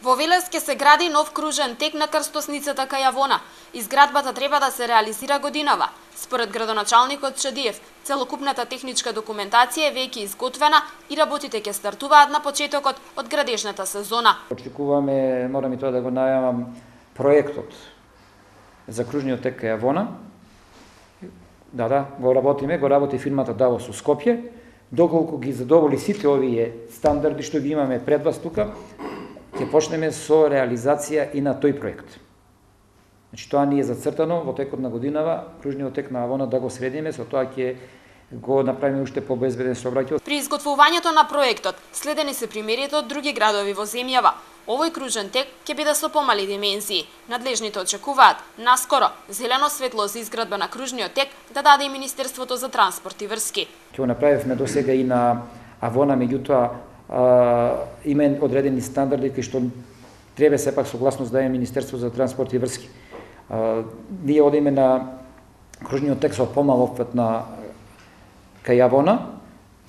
Во Велес ќе се гради нов кружен тек на крстосницата кај Авона. Изградбата треба да се реализира годинава. Според градоначалникот Чадиев, целокупната техничка документација е веќе изготвена и работите ќе стартуваат на почетокот од градежната сезона. Очекуваме, морам и тоа да го најавам, проектот за кружниот тек кај Авона. Го работи фирмата Давос со Скопје. Доколку ги задоволи сите овие стандарди што ги имаме пред вас тука, ќе почнеме со реализација и на тој проект. Значи, тоа ни е зацртано во текот на годинава, кружниот тек на Авона да го средиме, со тоа ќе го направиме уште побезбеден сообраќај. При изготвувањето на проектот следени се примерите од други градови во земјава. Овој кружен тек ќе биде со помали димензии. Надлежните очекуваат наскоро зелено светло за изградба на кружниот тек да даде и Министерството за транспорт и врски. Ќе го направивме досега и на Авона, меѓутоа има одредени стандарди кои што треба сепак согласност да е Министерство за транспорт и врски. Ние одиме на кружниот тек со помал опфат на кај Авона.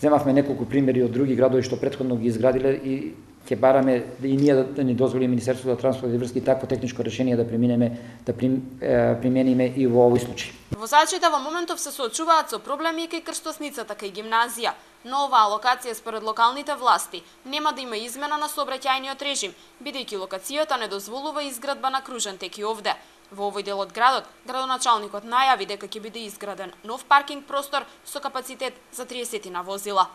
Земавме неколку примери од други градови што претходно ги изградиле и ќе бараме и ние да ни дозволи Министерството за транспорт и врски такво техничко решение да примениме и во овој случај. Возачите во моментов се соочуваат со проблеми кај крстосницата кај гимназија, но оваа локација според локалните власти нема да има измена на сообраќајниот режим, бидејќи локацијата не дозволува изградба на кружен тек и овде. Во овој дел од градот, градоначалникот најави дека ќе биде изграден нов паркинг простор со капацитет за 30 возила.